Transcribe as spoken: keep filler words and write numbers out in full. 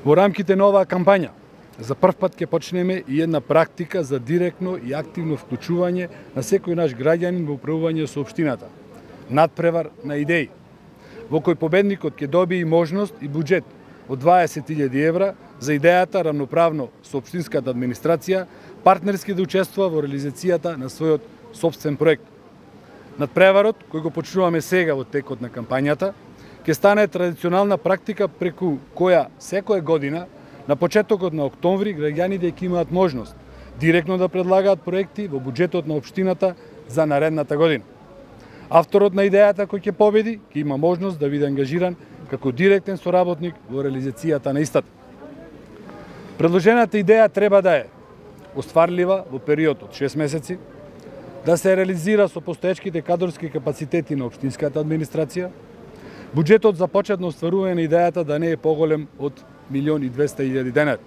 Во рамките на оваа кампања, за прв пат ќе почнеме и една практика за директно и активно вклучување на секој наш граѓанин во управување со општината. Надпревар на идеи, во кој победникот ќе добие и можност и буџет од дваесет илјади евра за идејата рамноправно со општинската администрација, партнерски да учествува во реализацијата на својот сопствен проект. Надпреварот, кој го почнуваме сега во текот на кампањата, ќе стане традиционална практика преку која секоја година на почетокот на октомври граѓаните ќе имаат можност директно да предлагаат проекти во буџетот на општината за наредната година. Авторот на идејата кој ќе победи ќе има можност да биде ангажиран како директен соработник во реализацијата на истата. Предложената идеја треба да е остварлива во период од шест месеци, да се реализира со постоечките кадрски капацитети на општинската администрација, буџетот за почетно остварување на идејата да не е поголем од милион и двесте илјади денари.